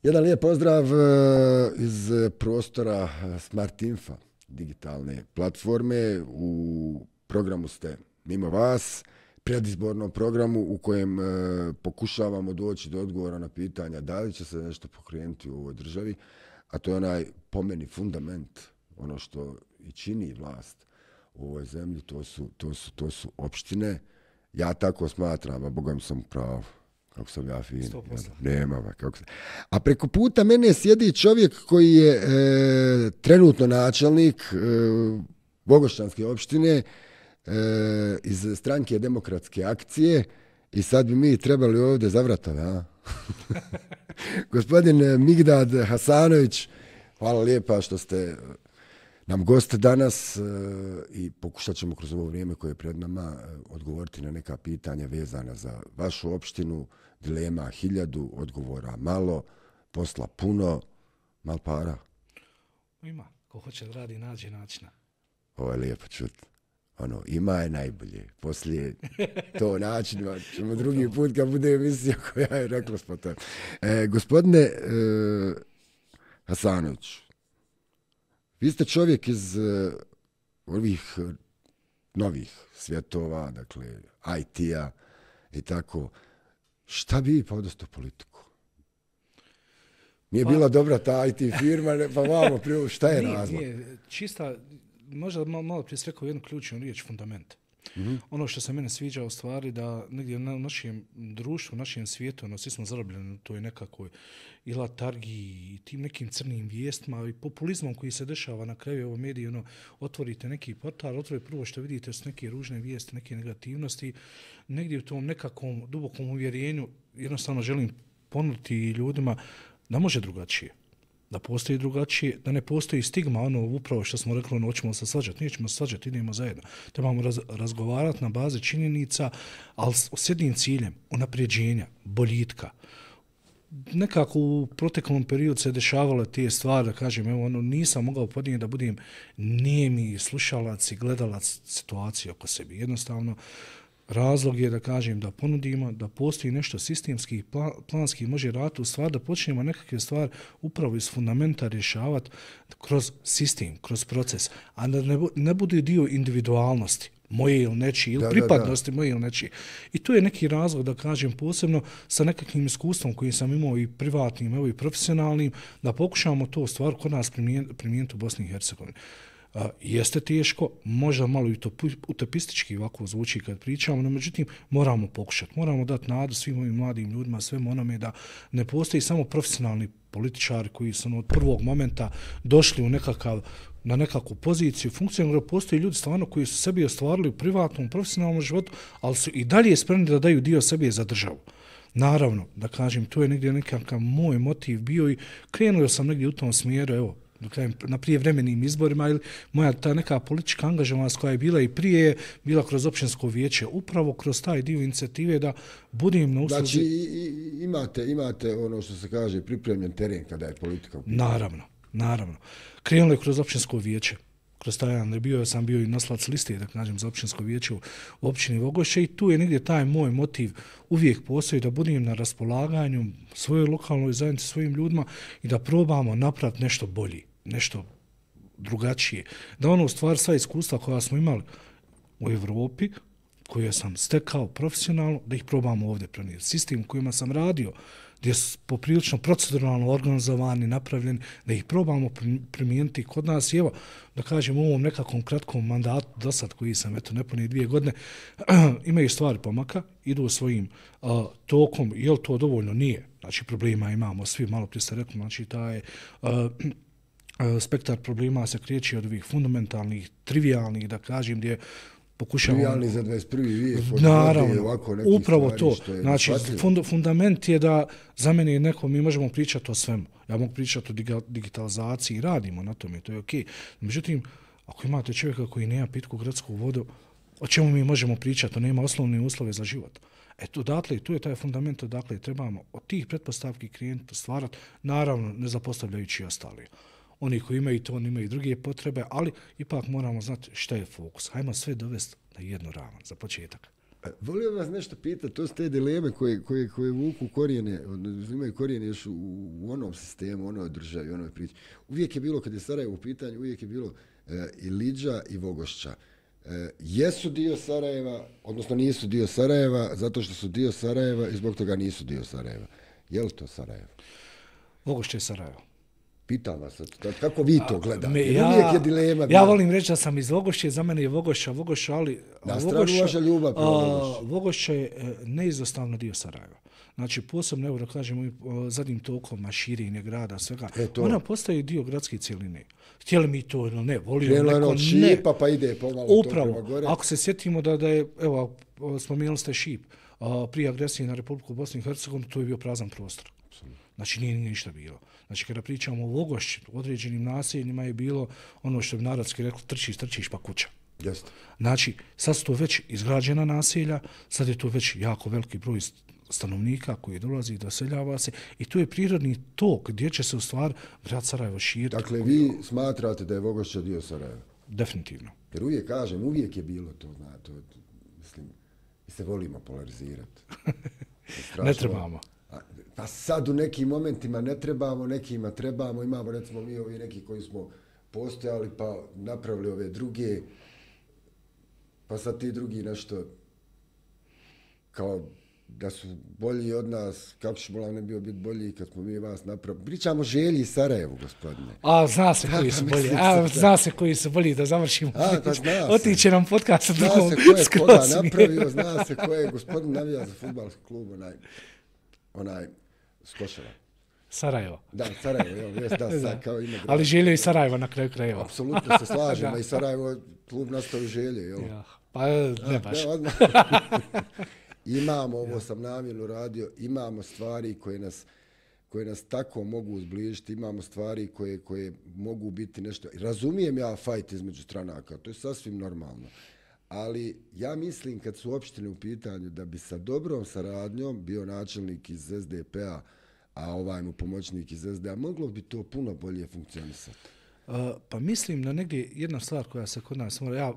Jedan lijep pozdrav iz prostora Smart Infa, digitalne platforme. U programu ste mimo vas, predizbornom programu u kojem pokušavamo doći do odgovora na pitanja da li će se nešto pokrenuti u ovoj državi, a to je onaj po meni fundament, ono što i čini vlast u ovoj zemlji, to su opštine. Ja tako smatram, a Boga mi sam u pravu. Kako sam ja fin. Nema, kako se. A preko puta mene sjedi čovjek koji je trenutno načelnik Bogošćanske opštine iz stranke Demokratske akcije i sad bi mi trebali ovdje zavrata, da? Gospodin Migdad Hasanović, hvala lijepa što ste nam gost danas i pokušat ćemo kroz ovo vrijeme koje je pred nama odgovoriti na neka pitanja vezana za vašu opštinu. Dilema 1000, odgovora malo, posla puno, malo para. Ima, ko hoće da radi, nađe načina. Ovo je lijepo čuti. Ono, ima je najbolje. Poslije to način, ćemo drugi put kad bude emisija koja je rekla spotan. Gospodine Hasanović, vi ste čovjek iz ovih novih svjetova, dakle IT-a i tako. Šta bi podosto politiku? Nije bila dobra ta IT firma, pa vamo prije, šta je razlog? Nije, čista, možda malo prije rekao jednu ključnu riječ, fundament. Ono što se mene sviđa u stvari da negdje u našem društvu, u našem svijetu, svi smo zarobljeni u toj nekakvoj i latargiji i tim nekim crnim vijestima i populizmom koji se dešava na kraju ovo mediji, otvorite neki portal, otvorite prvo što vidite su neke ružne vijesti, neke negativnosti, negdje u tom nekakvom dubokom uvjerenju jednostavno želim ponuditi ljudima da može drugačije. Da postoji drugačije, da ne postoji stigma, upravo što smo rekli, hoćemo se svađati, nećemo se svađati, idemo zajedno. Trebamo razgovarati na bazi činjenica, ali s jednim ciljem, unapređenja, boljitka. Nekako u proteklom periodu se dešavale te stvari, da kažem, nisam mogao podnijeti da budem nijemi slušalac i gledalac situacije oko sebi. Jednostavno, razlog je da kažem da ponudimo, da postoji nešto sistemski i planski može raditi u stvar, da počnemo nekakve stvari upravo iz fundamenta rješavati kroz sistem, kroz proces, a da ne bude dio individualnosti moje ili nečije, ili pripadnosti moje ili nečije. I to je neki razlog, da kažem, posebno sa nekakvim iskustvom koji sam imao i privatnim, evo i profesionalnim, da pokušamo to stvar kod nas primijeniti u Bosni i Hercegovini. Jeste teško, možda malo i utopistički ovako zvuči kad pričamo, no međutim moramo pokušati, moramo dati nadu svim ovim mladim ljudima, svemu onome da ne postoji samo profesionalni političari koji su od prvog momenta došli na nekakvu poziciju, funkciju, nego postoji ljudi stvarno koji su sebi ostvarili u privatnom, profesionalnom životu, ali su i dalje spremni da daju dio sebe za državu. Naravno, da kažem, to je negdje nekakav moj motiv bio i krenuo sam negdje u tom smjeru, evo, na prijevremenim izborima ili moja ta neka politička angažovanost koja je bila i prije, bila kroz općinsko vijeće, upravo kroz taj dio inicijative da budem na usluzi. Znači imate ono što se kaže pripremljen teren kada je politika u pitanju. Naravno. Krenulo je kroz općinsko vijeće. Kroz taj jedan sam bio i noslac liste, da kažem, za općinsko vijeće u općini Vogošće i tu je negdje taj moj motiv uvijek postoji da budem na raspolaganju svojoj lokalnoj zajednici, svojim ljudima i da probamo napraviti nešto bolje, nešto drugačije. Da u stvar sva iskustva koja smo imali u Evropi, koje sam stekao profesionalno, da ih probamo ovdje prenijeti. Sistem u kojima sam radio, gdje su poprilično proceduralno organizovani, napravljeni, da ih probamo primijeniti kod nas. I evo, da kažem, u ovom nekakvom kratkom mandatu do sad koji sam, nepune 2 godine, imaju stvari pomaka, idu svojim tokom, je li to dovoljno? Nije. Znači, problema imamo svi, malo prije ste rekli, znači, taj spektar problema se kreće od ovih fundamentalnih, trivialnih, da kažem, gdje pokušavamo... Trivialni za 21. vijek. Naravno, upravo to. Znači, fundament je da za mene neko, mi možemo pričati o svemu. Ja mogu pričati o digitalizaciji i radimo na tome, to je okej. Međutim, ako imate čovjeka koji nema pitku gradsku vodu, o čemu mi možemo pričati? To nema osnovne uslove za život. Eto, odatle, tu je taj fundament, odakle trebamo od tih pretpostavki klijentu stvarati, naravno, ne zapostavljajući ostali. Oni koji imaju to, oni imaju druge potrebe, ali ipak moramo znati šta je fokus. Hajmo sve dovesti na jednu ravan za početak. Volio vas nešto pitati, to su te dileme koje vuku korijene, imaju korijene još u onom sistemu, onoj državi, onoj priči. Uvijek je bilo, kad je Sarajevo u pitanju, uvijek je bilo i Liđa i Vogošća. Jesu dio Sarajeva, odnosno nisu dio Sarajeva, zato što su dio Sarajeva i zbog toga nisu dio Sarajeva. Je li to Sarajevo? Vogošće je Sarajevo. Pitam vas, kako vi to gledate? Uvijek je dilema. Ja volim reći da sam iz Vogošće, za mene je Vogošća, ali na stranu vaša ljubav prema Vogošću. Vogošće je neizostavno dio Sarajeva. Znači, posebno, evo da kažemo, zadnjim tokom širenje grada, svega, ona postaje dio gradske cijeline. Htjeli mi to ili ne, volio neko, ne. Šipa pa ide pomalo upravo, to prema gore. Ako se sjetimo da je, evo, spomenuli ste Šip, prije agresije na Republiku Bosnu i Hercegovinu, to je bio prazan prostor. Znači, nije ništa bilo. Znači, kada pričamo o Vogošći, određenim naseljima je bilo ono što bi narodski rekli, trčiš pa kuća. Jeste. Znači, sad su to već izgrađena naselja, sad je to već jako veliki broj stanovnika koji dolazi, doseljava se i to je prirodni tok gdje će se u stvari grad Sarajevo širiti. Dakle, vi smatrate da je Vogošća dio Sarajeva? Definitivno. Jer uvijek kažem, uvijek je bilo to, znate, mislim, mi se volimo polarizirati. Ne trebamo. Pa sad u nekim momentima ne trebamo, nekima trebamo, imamo recimo mi ovi neki koji smo postojali pa napravili ove druge, pa sad ti drugi nešto kao da su bolji od nas, kako će Bolan ne bio biti bolji kad smo mi vas napravili. Pričamo o Želji i Sarajevu, gospodine. Zna se koji su bolji. Zna se koji su bolji, da završimo. Otiće nam podcast. Zna se ko je koga napravio, zna se ko je gospodin navija za fudbalski klub, onaj Skoševa. Sarajevo. Da, Sarajevo, sad kao ime grada. Ali Želje i Sarajevo na kraju krajeva. Apsolutno se slažemo i Sarajevo klub nastao i Želje, jel? Ja, pa ne baš. Imamo, ovo sam namjerno radio, imamo stvari koje nas tako mogu uzbližiti, imamo stvari koje mogu biti nešto. Razumijem ja fajt između stranaka, to je sasvim normalno. Ali ja mislim kad su opštine u pitanju da bi sa dobrom saradnjom bio načelnik iz SDP-a, a ovaj mu pomoćnik iz SDA, moglo bi to puno bolje funkcionisati. Pa mislim da negdje jedna stvar koja se kod nas mora, ja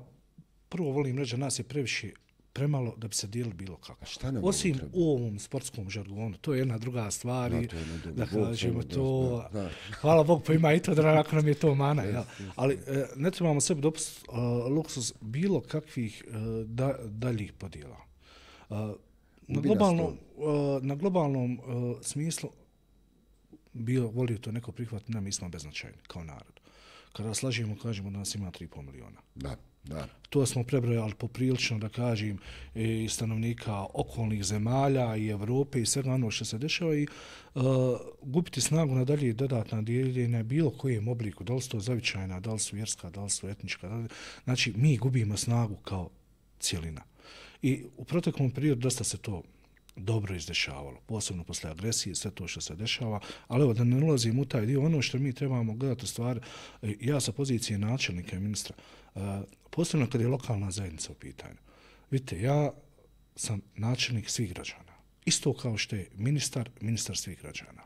prvo volim reći da nas je previše premalo da bi se dijelili bilo kako. Osim u ovom sportskom žargonu, to je jedna druga stvar. Da kažemo to. Hvala Bog, pa ima i to da ako nam je to mana. Ja. Ali ne trebamo sebi dopustiti luksuz bilo kakvih daljih podjela. Na globalnom smislu volio to neko prihvatiti, ne, mi smo beznačajni kao narod. Kada slažemo, kažemo da nas ima 3,5 miliona. Da. To smo prebrojali poprilično, da kažem, i stanovnika okolnih zemalja i Evrope i svega ono što se dešava i gubiti snagu na dalje dodatna dijeljenja bilo kojem obliku, da li su to zavičajna, da li su vjerska, da li su etnička. Znači, mi gubimo snagu kao cijelina. I u proteklom periodu dosta se to dobro izdešavalo, posebno posle agresije, sve to što se dešava, ali evo da ne ulazim u taj dio, ono što mi trebamo gledati u stvari, ja sa pozicije načelnika i ministra, posebno kad je lokalna zajednica u pitanju. Vidite, ja sam načelnik svih građana, isto kao što je ministar svih građana.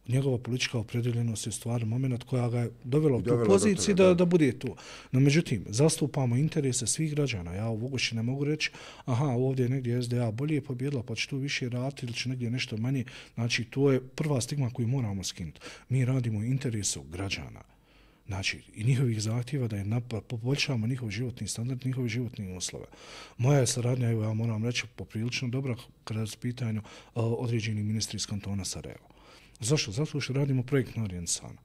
Njegova politička opredjeljenost je u stvari moment koja ga je dovela u tu poziciju da bude tu. No, međutim, zastupamo interese svih građana. Ja u Vogošći ne mogu reći, ovdje je negdje SDA bolje pobjedila, pa će tu više raditi ili će negdje nešto manje. Znači, to je prva stigma koju moramo skinuti. Mi radimo u interesu građana. Znači, i njihovih zahtjeva da je poboljšavamo njihov životni standard, njihove životne uslove. Moja je saradnja, evo ja moram reći, poprilično dobra kada je u pitanju određeni ministri iz kantona Sarajevo. Zašto? Zato što radimo projektno orijentisano.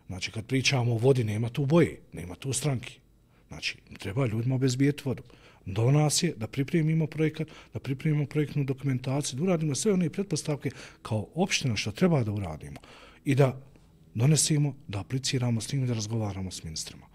Znači, kad pričamo o vodi, nema tu boje, nema tu stranki. Znači, treba ljudima obezbijeti vodu. Do nas je da pripremimo projekat, da pripremimo projektnu dokumentaciju, da uradimo sve one pretpostavke kao opština što treba da uradimo i da donesimo, da apliciramo s tim i da razgovaramo s ministrima.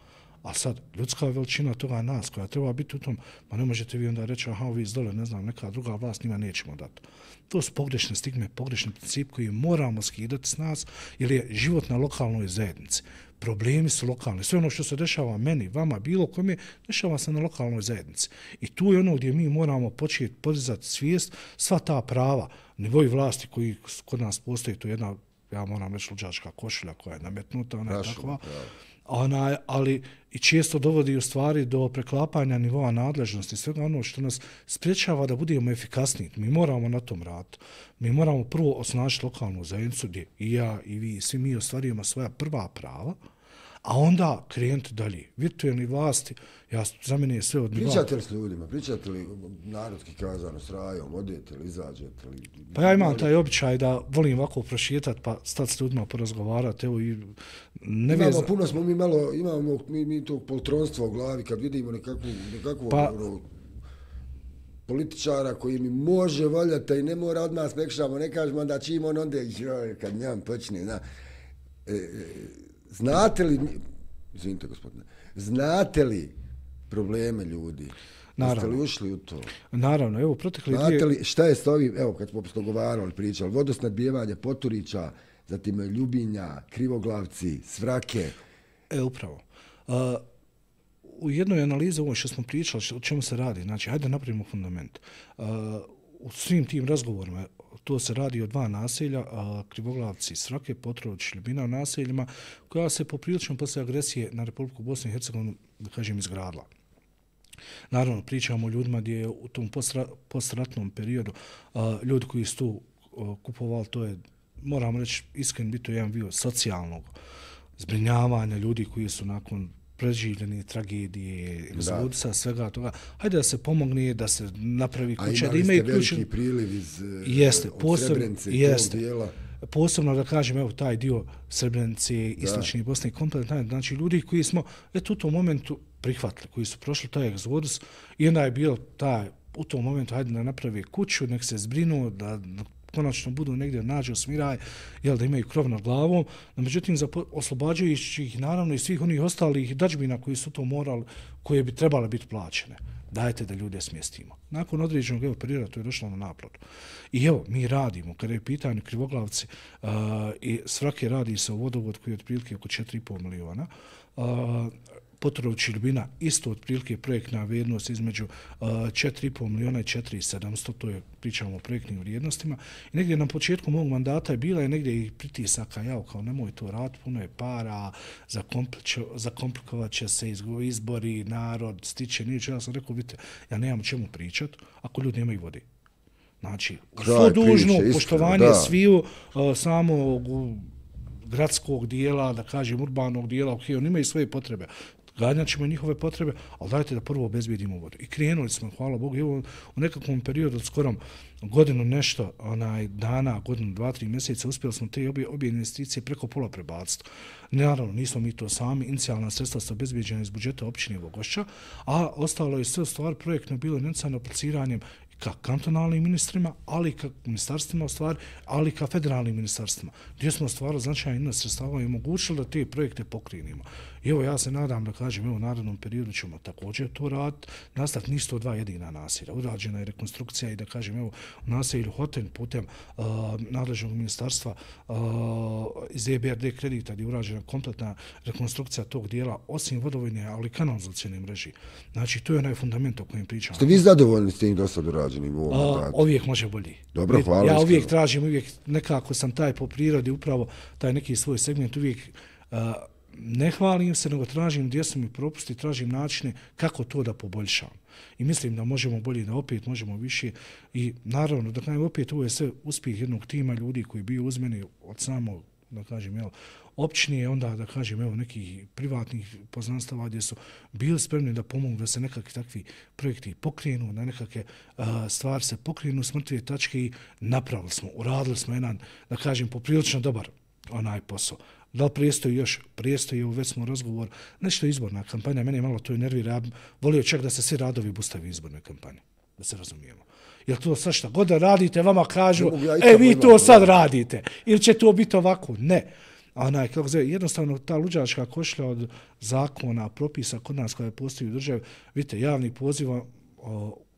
A sad, ljudska veličina toga nas koja treba biti u tom, pa ne možete vi onda reći, ovi iz dole, ne znam, neka druga vlast, njima nećemo dati. To su pogrešne stigme, pogrešni princip koji moramo skidati s nas, jer je život na lokalnoj zajednici. Problemi su lokalni. Sve ono što se dešava meni, vama, bilo kome, dešava se na lokalnoj zajednici. I tu je ono gdje mi moramo početi podizati svijest, sva ta prava, nivoji vlasti koji kod nas postoji, to je jedna ja moram reći luđačka košulja koja je nametnuta, ona je takva. Ja. Ali i često dovodi u stvari do preklapanja nivoa nadležnosti, svega ono što nas spriječava da budemo efikasniji. Mi moramo na tom raditi. Mi moramo prvo osnažiti lokalnu zajednicu gdje i ja i vi, svi mi ostvarujemo svoja prva prava, a onda krenuti dalje. Virtualni vlasti, za mene je sve od nivoa. Pričate li s ljudima? Pričate li narodski kazano s rajom? Odete li, izađete li? Pa ja imam taj običaj da volim ovako prošetati pa stati s ljudima porazgovarati. Evo i puno smo mi malo, imamo mi tog poltronstva u glavi kad vidimo nekakvu političara koji mi može voljati i ne mora od nas prekšamo, ne kažemo da čim on onda kad njam počne. Izvinite gospodine, znate li probleme ljudi? Naravno. Jeste li ušli u to? Naravno, evo protekli znate li šta je s ovim, evo kad smo dogovarali, pričali, vodosnadbijevanje Poturića, zatim Ljubinja, Krivoglavci, Svrake. Upravo. U jednoj analizi ovo što smo pričali, o čemu se radi, znači, hajde napravimo fundament. U svim tim razgovorima to se radi o 2 naselja, Krivoglavci, Svrake, Potrović, Ljubina u naseljima, koja se poprilično posle agresije na Republiku Bosnu i Hercegovinu, da kažem, izgradila. Naravno, pričamo o ljudima gdje je u tom postratnom periodu ljudi koji su tu kupovali, to je, moram reći, iskren biti to jedan bio socijalnog zbrinjavanja ljudi koji su nakon preživljene tragedije, egzodusa, svega toga. Hajde da se pomogne, da se napravi kuća, da imaju ključ. A imali ste veliki priliv iz Srebrenice i tog dijela. Posebno da kažem, evo, taj dio Srebrenice, istočne Bosne, kompletno, znači ljudi koji smo u tom momentu prihvatili, koji su prošli taj egzodus i onda je bilo u tom momentu, hajde da napravi kuću, nek se zbrinu, da konačno budu negdje nađu smiraj, da imaju krov nad glavom, no međutim oslobađajući ih naravno i svih onih ostalih dažbina koji su to morali, koje bi trebale biti plaćene. Dajte da ljude smjestimo. Nakon određenog perioda to je došlo na naplatu. I evo, mi radimo, kada je pitanje Krivoglavci i Svrake radi se o vodovod koji je otprilike oko 4,5 miliona, Potrović i Ljubina isto otprilike projektna vrijednost između 4,5 miliona i 4,700, to je, pričamo o projektnim vrijednostima. I negdje na početku mog mandata je bila negdje i pritisaka, kao nemoj to raditi, puno je para, zakomplikovat će se izbori, narod, stiče, niče. Ja sam rekao, vidite, ja nemam o čemu pričati ako ljudi nemaju vode. Znači, svo dužno poštovanje sviju samog gradskog dijela, da kažem urbanog dijela, oni imaju svoje potrebe. Ganjat ćemo njihove potrebe, ali dajte da prvo obezbijedimo vodu. I krenuli smo, hvala Bogu, evo u nekakvom periodu od skorom godinu nešto dana, godinu, 2-3 mjeseca, uspjeli smo te obje investicije preko pola prebaciti. Naravno, nismo mi to sami, inicijalna sredstva su obezbijeđena iz budžeta općine Vogošća, a ostalo je sve stvar projektno bilo necano apliciranjem ka kantonalnim ministrima, ali i ka ministarstvima, ali i ka federalnim ministarstvima, gdje smo stvarali značajan iznos sredstava i omogućili da te projekte pokrenimo. I evo, ja se nadam da kažem, evo, u narednom periodu ćemo također to raditi. Nastaviti nisu to 2 jedina naselja. Urađena je rekonstrukcija i da kažem, evo, u naselju Hoten putem nadležnog ministarstva iz EBRD kredita gdje je urađena kompletna rekonstrukcija tog dijela, osim vodovodne, ali i kanalizacijne mreže. Znači, to je onaj fundament o kojem pričamo. Ste vi zadovoljni s tim do sad urađenim u ovom mandatu? Uvijek može bolji. Dobro, hvala. Ja uvijek tražim, nekako sam taj po prirodi, upravo taj neki svoj segment, uvijek ne hvalim se, nego tražim gdje su mi propusti, tražim načine kako to da poboljšam. I mislim da možemo bolje, da opet možemo više. I naravno, da kažem, opet ovo je sve uspjeh jednog tima ljudi koji bio uz mene od samog, da kažem, općine, onda, da kažem, nekih privatnih poznanstava gdje su bili spremni da pomogu da se nekakvi takvi projekti pokrenu, da nekakve stvari se pokrenu s mrtve tačke i napravili smo, uradili smo jedan, da kažem, poprilično dobar posao. Da li prijestoji još? Prijestoji, već smo razgovor. Nešto izborna kampanja, mene malo to nervira. Volio čak da se svi radovi bustave izborne kampanje. Da se razumijemo. Jer to sad šta god da radite, vama kažu, vi to sad radite. Ili će to biti ovako? Ne. Jednostavno ta luđačka košlja od zakona, propisa kod nas koja postoji u državi, vidite, javni poziv,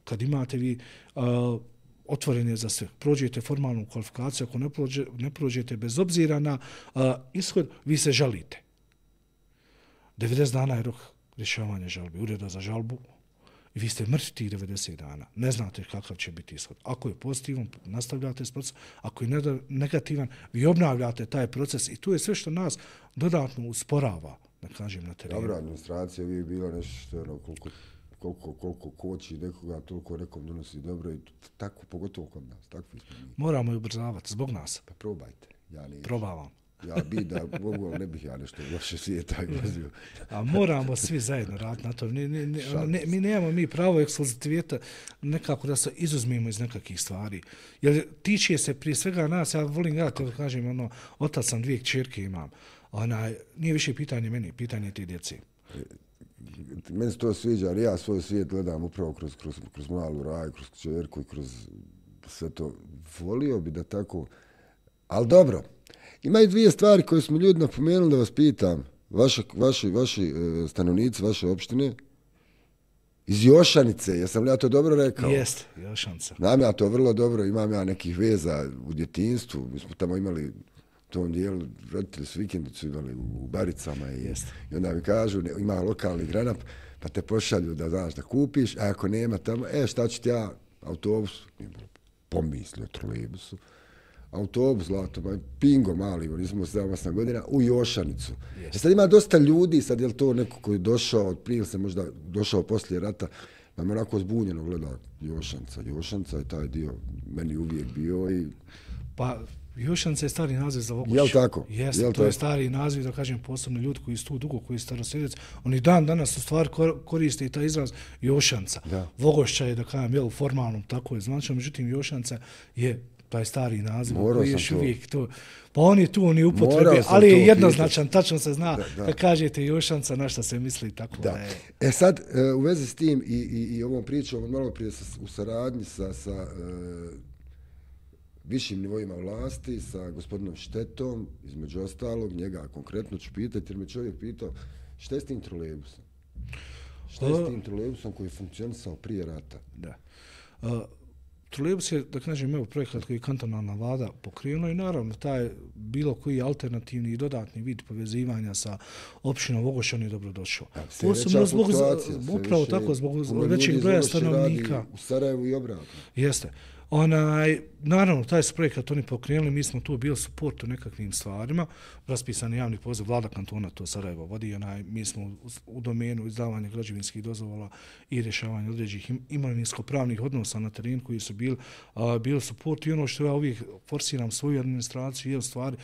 kad imate vi otvoren je za sve. Prođete formalnu kvalifikaciju, ako ne prođete bez obzira na ishod, vi se žalite. 90 dana je rok rješavanja žalbe, ureda za žalbu i vi ste mrtvi tih 90 dana. Ne znate kakav će biti ishod. Ako je pozitivan, nastavljate s procesom. Ako je negativan, vi obnavljate taj proces i tu je sve što nas dodatno usporava, da kažem, na terenu. Dobra administracija uvijek bila nešto što je koliko koči nekoga, toliko nekom donosi dobro i tako, pogotovo kod nas. Takvi smo mi. Moramo je ubrzavati zbog nas. Pa probajte. Ja ne Probavam. Ja bi da mogu, ali ne bih ja nešto loše svijeta vozio. A moramo svi zajedno raditi na to. Mi nemamo pravo ekskluziviteta nekako da se izuzmemo iz nekakvih stvari. Jer tiče se prije svega nas, ja volim gledati, kažem, otac sam 2 kćerke imam. Nije više pitanje meni, pitanje te djece. Meni se to sviđa, jer ja svoj svijet gledam upravo kroz malu Raju, kroz kćerku i kroz sve to. Volio bi da tako, ali dobro. Imaju 2 stvari koje smo ljudi napomenuli da vas pitam. Vaši stanovnici, vaše opštine, iz Jošanice, jesam li ja to dobro rekao? Jeste, Jošanca. Znam ja to vrlo dobro, imam ja nekih veza u djetinjstvu. Mi smo tamo imali u tom dijelu, roditelji su vikendicu imali u Baricama i onda mi kažu, ima lokalni granap, pa te pošalju da znaš da kupiš, a ako nema tamo, šta ću ti ja, autobus, pomislio trolejbusu, autobus, zlato, pingo mali, nismo 7-8 godina, u Jošanicu. Sad ima dosta ljudi, sad je li to neko koji je došao, od prije se možda došao poslije rata, pa me onako zbunjeno gleda Jošanca. Jošanca je taj dio meni uvijek bio i... Pa, Jošanca je stari naziv za Vogošću. Jel' tako? Jeste, to je stari naziv, da kažem, posebno ljudi koji su tu dugo, koji su starosjedec, oni danas u stvari koriste i taj izraz Jošanca. Vogošća je, da kažem, formalno tako je značajno, međutim Jošanca je taj stari naziv koji je uvijek to. Pa on je tu, on je upotrebi, ali je jednoznačan, tačno se zna kad kažete Jošanca na šta se misli, tako da je. Sad, u vezi s tim i ovom pričom, malo prije u saradnji sa višim nivoima vlasti, sa gospodinom Štetom, između ostalog, njega konkretno ću pitati, jer me čovjek pitao šta je s tim trolejbusom? Šta je s tim trolejbusom koji je funkcionisao prije rata? Da. Trolejbus je, da kažem, projekat koji je kantonalna vlada pokrenula i naravno taj bilo koji alternativni i dodatni vid povezivanja sa opštinom Vogošća je dobrodošao. Posebno upravo tako, zbog većeg broja stanovnika. U Sarajevu i obratno. Jeste. Naravno, taj su projekat oni pokrenuli, mi smo tu bili suport u nekakvim stvarima, raspisani javni poziv, vlada kantona to Sarajevo vodi, mi smo u domenu izdavanja građevinskih dozvola i rješavanja određenih imovinsko-pravnih odnosa na terenu koji su bili suport i ono što ja uvijek forsiram svoju administraciju je u stvari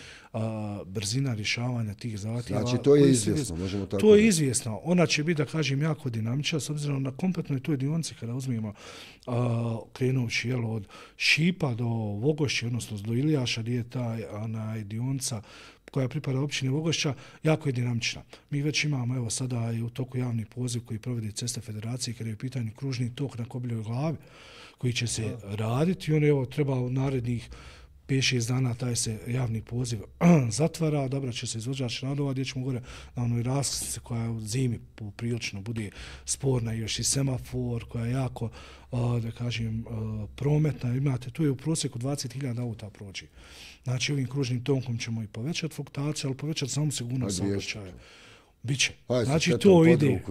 brzina rješavanja tih zahtjeva. Znači, to je izvjesno, možemo tako. To je izvjesno. Ona će biti, da kažem, jako dinamična, s obzirom na kompletnoj toj dionici kada uzmemo krenući od Šipa do Vogošće, odnosno do Ilijaša, gdje je ta dionica koja pripada općini Vogošća, jako je dinamična. Mi već imamo, evo sada i u toku javni poziv koji provodi Ceste Federacije, kada je u pitanju kružni tok na Kobljoj glavi, koji će se raditi i on je treba u narednih 5-6 dana taj se javni poziv zatvara, odabrat će se izvođač radova, gdje ćemo gore na onoj raskrsnici koja u zimi poprilično bude sporna, još i semafor koja je jako, da kažem, prometna. Imate, tu je u prosjeku 20.000 auta prođe. Znači, ovim kružnim tokom ćemo i povećati fluktaciju, ali povećati samo sigurnost saobraćaja. Biće. Znači, to ide.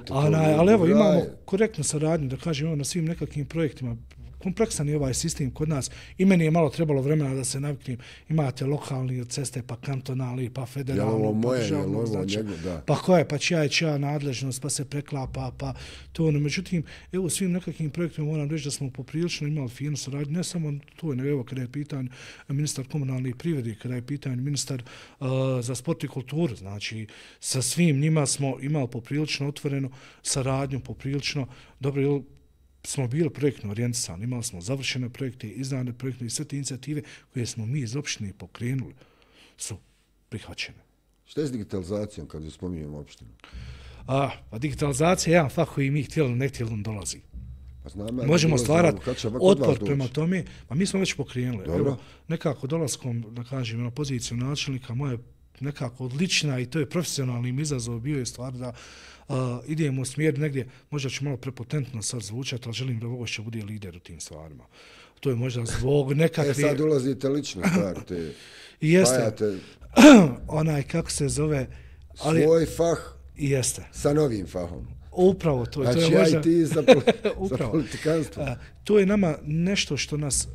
Ali evo, imamo korektnu saradnju, da kažem, na svim nekakvim projektima. Kompleksan je ovaj sistem kod nas i meni je malo trebalo vremena da se naviknem. Imate lokalni ceste, pa kantonalni, pa federalni, pa državno, znači, pa koje, pa čija nadležnost, pa se preklapa, pa to. Međutim, evo svim nekakvim projektima moram reći da smo poprilično imali finu saradnju, ne samo to, nego evo kada je pitanje ministar komunalne privrede, kada je pitanje ministar za sport i kulturu, znači sa svim njima smo imali poprilično otvorenu saradnju, poprilično dobro, smo bili projektno orijentisani, imali smo završene projekte, izdane projekte i sve te inicijative koje smo mi iz opštine pokrenuli su prihvaćene. Šta je s digitalizacijom kad ju spominjemo opštinu? Pa digitalizacija je jedan fakt koji mi htjeli, ne htjeli dolazi. Možemo stvarati otpor prema tome, a mi smo već pokrenuli. Evo, nekako dolaskom, da kažem, na poziciju načelnika, moja nekako odlična i to je profesionalnim izazov bio je stvar da idemo u smjer negdje, možda ću malo prepotentno sad zvučati, ali želim da Vogošća bude lider u tim stvarima. To je možda zbog nekakve... Sad ulazite lično stvar, te spajate... Onaj, kako se zove... Svoj fah jeste. Sa novim fahom. Upravo to. Znači, to je možda... i ti za politikanstvo. To je nama nešto što nas,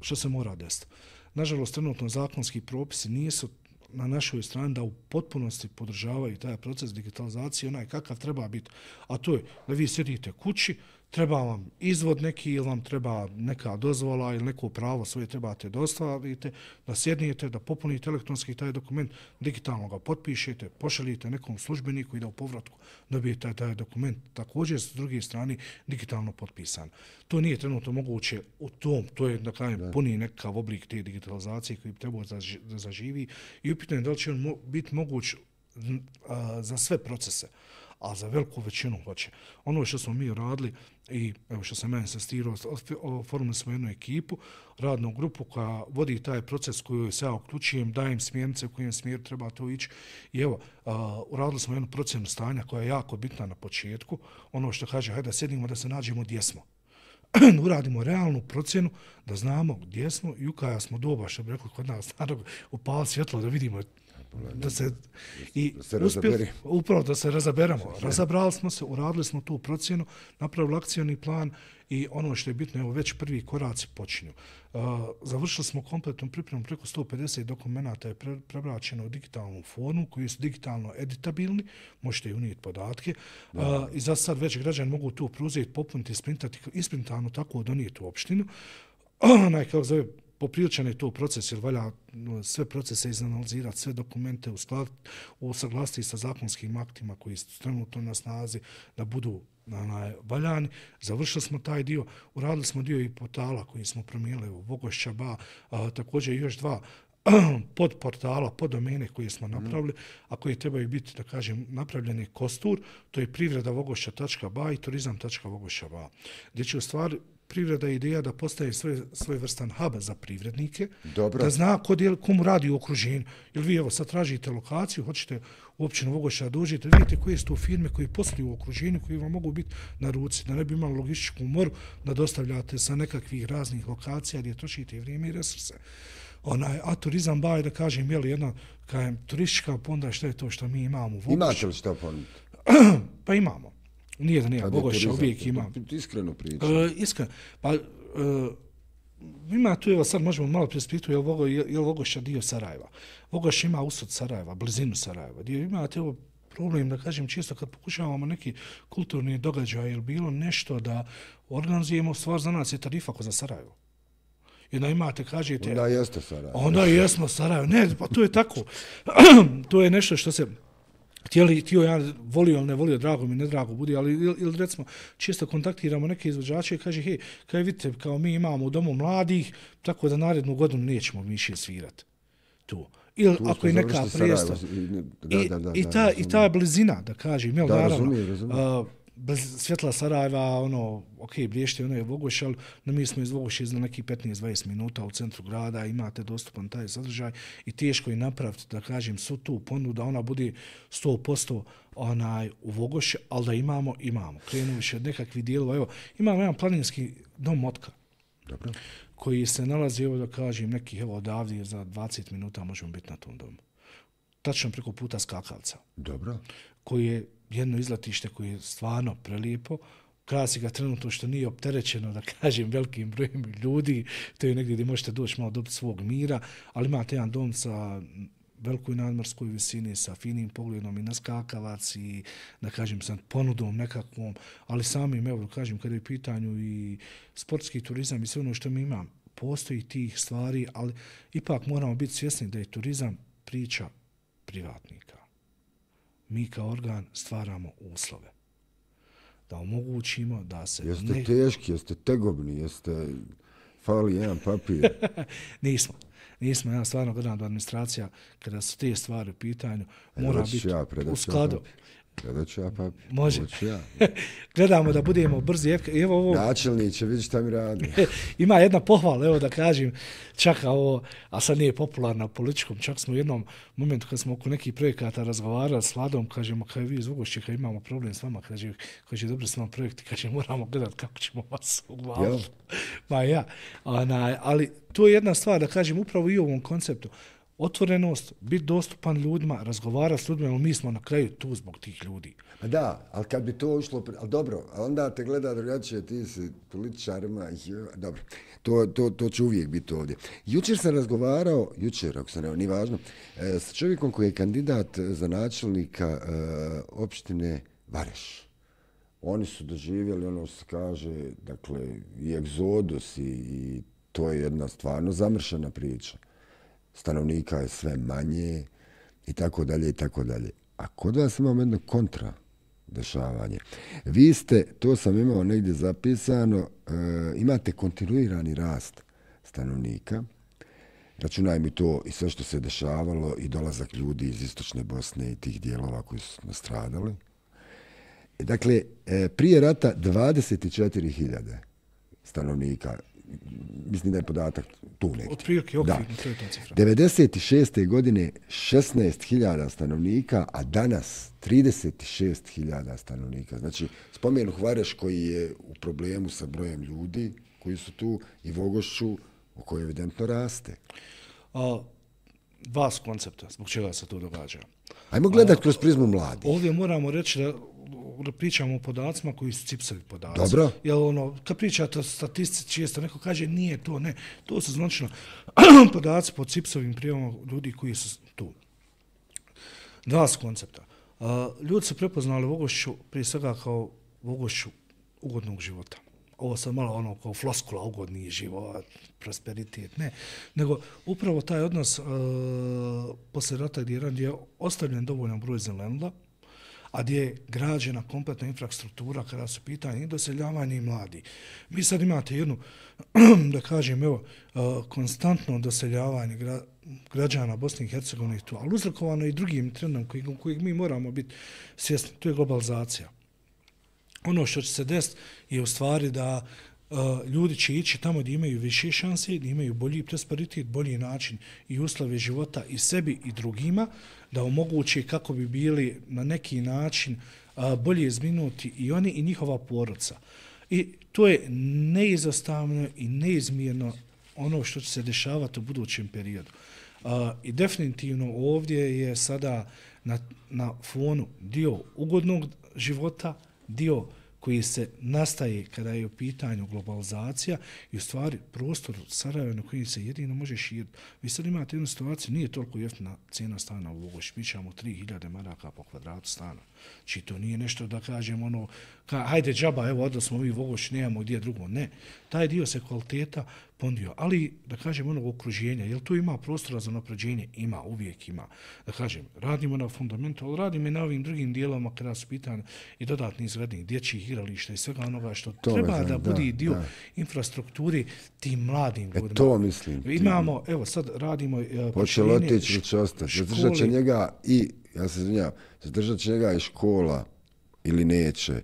što se mora desiti. Nažalost, trenutno zakonski propisi nisu na našoj strani da u potpunosti podržavaju taj proces digitalizacije, onaj kakav treba biti. A to je da vi sjedite kući, treba vam izvod neki ili vam treba neka dozvola ili neko pravo svoje trebate dostavite, da sjednijete, da popunite elektronski taj dokument, digitalno ga potpišete, pošaljite nekom službeniku i da u povratku dobijete taj dokument također s druge strane digitalno potpisan. To nije trenutno moguće u tom, to je da kažem puni nekakav oblik te digitalizacije koji bi trebao da zaživi i upitno je da li će on biti moguć za sve procese, a za veliku većinu hoće. Ono što smo mi radili i evo što sam meni sastirao, oformili smo jednu ekipu, radnu grupu koja vodi taj proces koju se ja uključujem, dajem smjernice u kojem smjeru treba to ići i evo, uradili smo jednu procjenu stanja koja je jako bitna na početku, ono što kaže, hajde da sjedimo da se nađemo gdje smo. Uradimo realnu procjenu da znamo gdje smo i u kaja smo doba, što bi rekli kod nas, upali svjetlo da vidimo da se upravo da se razaberemo. Razabrali smo se, uradili smo tu procjenu, napravili akcioni plan i ono što je bitno, evo već prvi koraci počinju. Završili smo kompletnu pripremu, preko 150 dokumenta je prebraćeno u digitalnu formu koji su digitalno editabilni, možete i unijeti podatke i za sad već građani mogu tu preuzeti, popuniti, isprintati, isprintano tako donijeti u opštinu. Kako zove, popriličan je to proces, jer valja sve procese izanalizirati, sve dokumente usaglasiti sa zakonskim aktima koji su trenutno na snazi, da budu valjani. Završili smo taj dio, uradili smo dio i portala koji smo promijenili u Vogošća Ba, također još dva podportala, poddomene koje smo napravili, a koje trebaju biti, da kažem, napravljeni kostur, to je privreda.vogošća.ba i turizam.vogošća.ba, gdje će u stvari privreda je ideja da postaje svojevrstan hub za privrednike, da zna komu radi u okruženju. Jer vi evo sad tražite lokaciju, hoćete u općinu Vogošća dođete, vidite koje su to firme koje posluju u okruženju, koji vam mogu biti na ruci, da ne bi imali logističku moru, da dostavljate sa nekakvih raznih lokacija gdje trošite vrijeme i resurse. A turizam ba je, da kažem, je li jedna turistička ponda, što je to što mi imamo u Vogošću. Imate li što ponuditi? Pa imamo. Nije da nije, Vogošća uvijek ima. Iskreno pričam. Iskreno. Pa, ima tu, evo sad možemo malo preispitati, je li Vogošća dio Sarajeva? Vogošća ima usud Sarajeva, blizinu Sarajeva. Gdje imate ovo problem, da kažem, čisto kad pokušavamo neki kulturni događaj ili bilo nešto da organizujemo, stvar za nas je tarifa ko za Sarajevo. I da imate, kažete... Onda jeste Sarajevo. Onda jesmo Sarajevo. Ne, pa to je tako. To je nešto što se... Htio ja volio ili ne volio, drago mi, ne drago budi, ali ili recimo čisto kontaktiramo neke izvođače i kaže, hej, kaj vidite, kao mi imamo u domu mladih, tako da narednu godinu nećemo više svirati tu. Ili ako je neka predstava. I ta blizina, da kažem, jel, naravno, svjetla Sarajeva, Briješće, je Vogošća, ali mi smo iz Vogošće za nekih 15-20 minuta u centru grada, imate dostupan taj sadržaj i teško je napraviti, da kažem, su tu ponudu da ona bude 100% u Vogošće, ali da imamo. Krenu više od nekakvih dijelova. Evo, imamo jedan planinski dom Motka. Dobro. Koji se nalazi, evo da kažem, nekih, evo odavdje za 20 minuta možemo biti na tom domu. Tačno preko puta skakavca. Dobro. Koji je jedno izletište koje je stvarno prelijepo, krasi ga trenutno što nije opterećeno, da kažem, velikim brojem ljudi, to je negdje gdje možete doći malo dobiti svog mira, ali imate jedan dom sa velikoj nadmorskoj visini, sa finim pogledom i na skakavac i, da kažem, sa ponudom nekakvom, ali samim, evo, da kažem, kada je pitanju i sportski turizam i sve ono što mi imam, postoji tih stvari, ali ipak moramo biti svjesni da je turizam priča privatnika. Mi kao organ stvaramo uslove. Da omogućimo da se... Jeste teški, jeste tegobni, jeste... Fali jedan papir. Nismo. Ja stvarno gledam da administracija, kada su te stvari u pitanju, mora biti u skladu. Gledat ću ja papir. Može. Gledamo da budemo brzi. Evo ovo... Načelniče, vidi šta mi radi. Ima jedna pohvala, evo da kažem, čak ovo, a sad nije popularna u političkom, čak smo u jednom momentu kad smo oko nekih projekata razgovarali s Vladom, kažemo, kaj vi iz Vogošće, kad imamo problem s vama, kaže, dobro s vama projekti, kaže, moramo gledati kako ćemo vas uglaviti. Ma ja. Ali to je jedna stvar, da kažem, upravo i u ovom konceptu. otvorenost, biti dostupan ljudima, razgovarati s ljudima, ali mi smo na kraju tu zbog tih ljudi. Pa da, ali kad bi to ušlo, ali dobro, a onda te gleda drugačije, ti si političarima, dobro, to će uvijek biti ovdje. Jučer sam razgovarao, ako se nije važno, s čovjekom koji je kandidat za načelnika opštine Vareš. Oni su doživjeli ono što se kaže, dakle, i egzodus i to je jedna stvarno zamršena priča. Stanovnika je sve manje i tako dalje i tako dalje. A kod vas imamo jedno kontra dešavanje. Vi ste, to sam imao negdje zapisano, imate kontinuirani rast stanovnika. Računaj mi to i sve što se dešavalo i dolazak ljudi iz istočne Bosne i tih dijelova koji su nastradali. Dakle, prije rata 24.000 stanovnika. Mislim da je podatak tu negdje. Od prilike okvirno, to je ta cifra. 96. godine 16.000 stanovnika, a danas 36.000 stanovnika. Znači, spomenu Vareš koji je u problemu sa brojem ljudi koji su tu i Vogošću u kojoj evidentno raste. Dva su koncepta, zbog čega se to događa. Ajmo gledati kroz prizmu mladih. Ovdje moramo reći da pričamo o podacima koji su CIPS-ovi podaci. Dobro. Jer kad pričate o statistici, često neko kaže nije to, ne. To su značno podaci po CIPS-ovim prijavama ljudi koji su tu. Dva su koncepta. Ljudi su prepoznali Vogošću prije svega kao Vogošću ugodnog života. Ovo sad malo kao floskula, ugodni život, prosperitet, ne. Nego upravo taj odnos poslije rata gdje je ostavljen dovoljan broj zelenila, a gdje je građena kompletna infrastruktura kada su pitanje i doseljavanje i mladi. Vi sad imate jednu, da kažem, konstantno doseljavanje građana Bosne i Hercegovine tu, ali uzrokovano i drugim trendom kojeg mi moramo biti svjesni, to je globalizacija. Ono što će se desiti je u stvari da ljudi će ići tamo gdje imaju više šanse, gdje imaju bolji prosperitet, bolji način i uslove života i sebi i drugima, da omoguće kako bi bili na neki način bolje zbrinuti i oni i njihova porodica. I to je neizostavno i neizmjerno ono što će se dešavati u budućem periodu. I definitivno ovdje je sada na fonu dio ugodnog života, dio koji se nastaje kada je u pitanju globalizacija i u stvari prostor Sarajeva na koji se jedino može širiti. Vi sad imate jednu situaciju, nije toliko jeftina cijena stana u Vogošći, mi ćemo 3.000 maraka po kvadratu stana. Či to nije nešto da kažem hajde džaba, evo odda smo mi u Vogošći, nemamo gdje drugo. Ne, taj dio se kvaliteta pondio, ali da kažem onog okruženja, jel tu ima prostora za napređenje? Ima, uvijek ima. Da kažem, radimo na fundamentu, ali radimo i na ovim drugim dijelovima kada su pitanje i dodatni izgradnji dječjih igrališta i svega onoga što treba da bude dio infrastrukture tim mladim ljudima. To mislim. Imamo, evo sad radimo hoće li otići, će ostati. Zadržat će njega i, ja se izvinjavam, zadržat će njega i škola ili neće.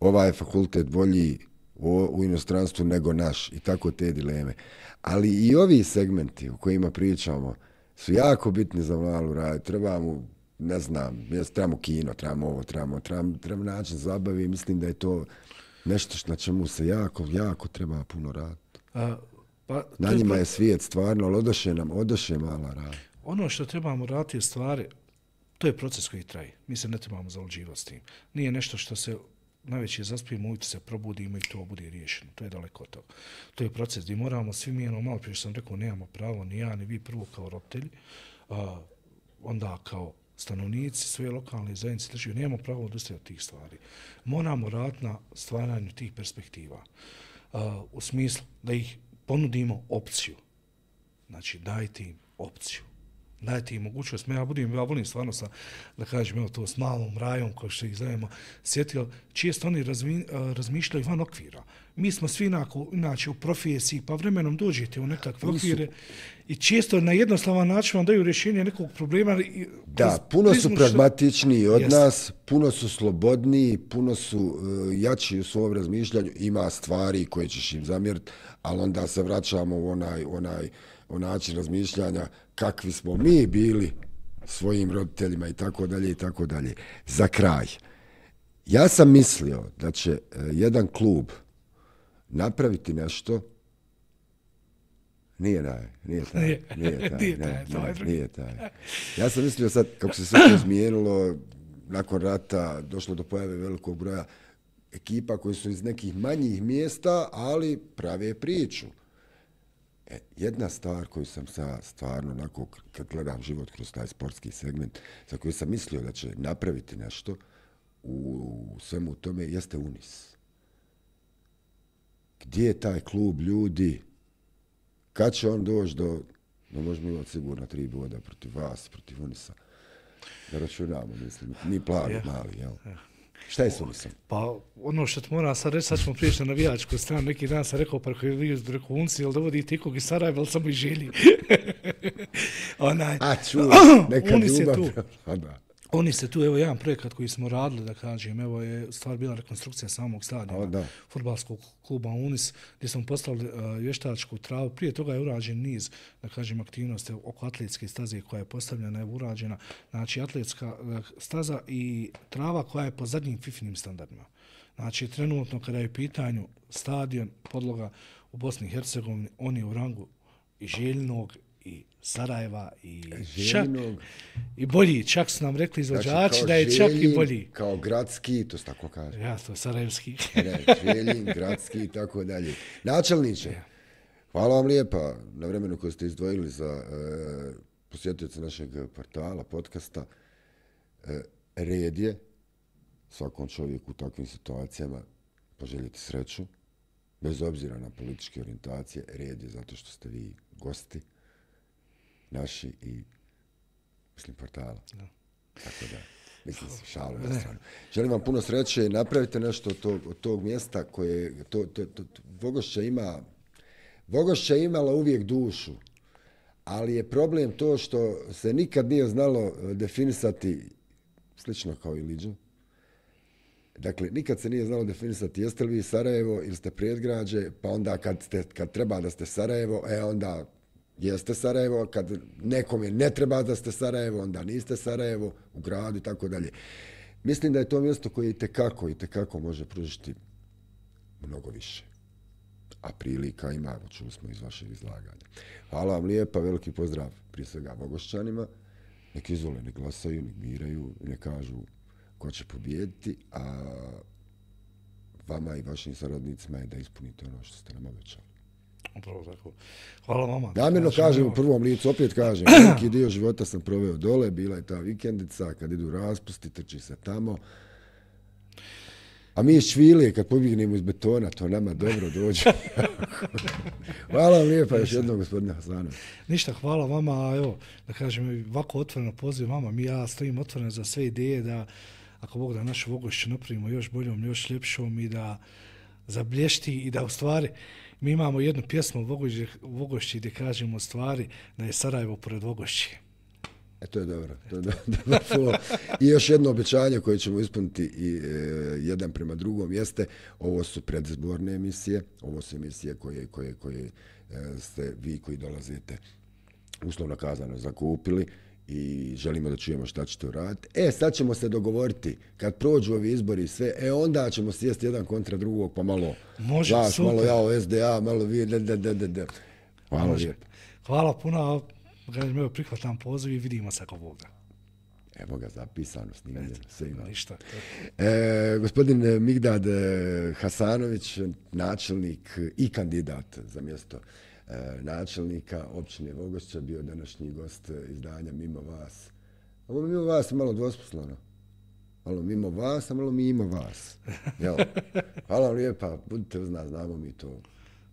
Ovaj fakultet bolji u inostranstvu nego naš i tako te dileme. Ali i ovi segmenti o kojima pričamo su jako bitni za malu rad. Trebamo, ne znam, trebamo kino, trebamo ovo, trebamo način zabavi. Mislim da je to nešto na čemu se jako treba puno raditi. Na njima je svijet stvarno, ali odoše mala rad. Ono što trebamo raditi je stvari, to je proces koji traje. Mi se ne trebamo zaluđivati s tim. Nije nešto što se najveće zaspijemo, ujutro se probudimo i to bude riješeno. To je daleko od toga. To je proces gdje moramo svi mi, malo prije sam rekao, nemamo pravo, ni ja, ni vi prvo kao roditelji, onda kao stanovnici svoje lokalne zajednice države, nemamo pravo odustajati od tih stvari. Moramo raditi na stvaranju tih perspektiva. U smislu da ih ponudimo opciju. Znači, dajte im opciju. Dajte im mogućnost. Ja volim stvarno da kažem, evo to s malom rajom, kao što ih zovemo, sjetio, često oni razmišljaju van okvira. Mi smo svi inače u profesiji, pa vremenom dođete u nekakve okvire i često na jednostavan način vam daju rješenje nekog problema. Da, puno su pragmatičniji od nas, puno su slobodniji, puno su jači u svom razmišljanju, ima stvari koje ćeš im zamjeriti, ali onda se vraćamo u način razmišljanja kakvi smo mi bili svojim roditeljima i tako dalje i tako dalje. Za kraj, ja sam mislio da će jedan klub napraviti nešto Nije taj. Ja sam mislio sad, kako se sve to izmijenilo, nakon rata došlo do pojave velikog broja ekipa koji su iz nekih manjih mjesta, ali prave priču. Jedna stvar koju sam stvarno, onako, kad gledam život kroz taj sportski segment, za koju sam mislio da će napraviti nešto u svemu tome, jeste Unis. Gdje je taj klub ljudi? Kad će on doći do... No, možemo imati sigurno 3 boda protiv vas, protiv Unisa. Da računamo, mislim. Ni plavi, mali, jel? Šta je s Unisom? Pa, ono što ti moram sad reći, sad ćemo prijeći na navijačku stranu. Neki dan sam rekao, pa koji vi rekao Unci, jel dovodite ikog iz Sarajeva, ali samo i želi. Neka Unis ljubav. Je tu. Oni se tu, evo jedan projekat koji smo radili, da kažem, evo je stvar bila rekonstrukcija samog stadiona fudbalskog kluba Unis, gdje smo postavili vještačku travu. Prije toga je urađen niz, da kažem, aktivnosti oko atletske staze koja je postavljena, je urađena, znači atletska staza i trava koja je po zadnjim FIFA-nim standardima. Znači, trenutno kada je u pitanju stadion, podloga u Bosni i Hercegovini, on je u rangu i Željnog, i Sarajeva i Željinog. I bolji, čak su nam rekli izvođači znači, da je čak i bolji. Kao gradski, to se tako kaže. Ja, to je sarajevski. Željin, gradski i tako dalje. Načelniče, hvala vam lijepa na vremenu koje ste izdvojili za posjetioce našeg portala, podcasta. Red je svakom čovjeku u takvim situacijama poželjeti sreću, bez obzira na političke orijentacije. Red je zato što ste vi gosti naši i, mislim, portala. Da. Tako da, mislim, šalu na stranu. Želim vam puno sreće i napravite nešto od tog mjesta koje, Vogošća je imala uvijek dušu, ali je problem to što se nikad nije znalo definisati, slično kao i Liđo. Dakle, nikad se nije znalo definisati jeste li vi Sarajevo ili ste predgrađe, pa onda kad treba da ste Sarajevo, onda jeste Sarajevo, kad nekome ne treba da ste Sarajevo, onda niste Sarajevo, u gradu i tako dalje. Mislim da je to mjesto koje i tekako može pružiti mnogo više. A prilika ima, čuli smo iz vašeg izlaganja. Hvala vam lijepa, veliki pozdrav prije svega Vogošćanima. Nek izvole, nek glasaju, nek biraju, nek kažu ko će pobijediti, a vama i vašim saradnicima je da ispunite ono što ste nam obećali. Upravo tako. Hvala vama. Namjerno kažem u prvom licu, opet kažem, veliki dio života sam proveo dole, bila je ta vikendica, kad idu raspusti, trči se tamo. A mi iz Čvilije, kad pobjegnemo iz betona, to nama dobro dođe. Hvala vam lijepa još jednom, gospodine Hasanović. Ništa, hvala vama. Evo, da kažem, ovako otvoreno poziv vama. Ja stojim otvoreno za sve ideje da, ako Bog da našu Vogošću napravimo još boljom, još ljepšom i da zablješti i da u stvari mi imamo jednu pjesmu u Vogošći gdje kažemo u stvari da je Sarajevo pored Vogošći. To je dobro. I još jedno obećanje koje ćemo ispuniti i jedan prema drugom jeste, ovo su predizborne emisije, ovo su emisije koje ste vi koji dolazite uslovno kazano zakupili i želimo da čujemo šta ćete uraditi. Sad ćemo se dogovoriti, kad prođu ovi izbori i sve, onda ćemo sjesti jedan kontra drugog, pa malo vas, malo ja o SDA, malo vi, Hvala lijepo. Hvala puno, evo prihvatam poziv i vidimo se ako Boga. Evo ga, zapisano, snimljeno, sve ima. Ništa. Gospodin Migdad Hasanović, načelnik i kandidat za mjesto načelnika općine Vogošća, bio današnji gost izdanja Mimo vas. Ovo Mimo vas je malo dvosposleno. Malo mimo vas, a malo mimo vas. Hvala vam lijepa, budite uz nas, znamo mi to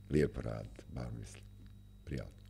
lijepo raditi, bar mislim. Prijatno.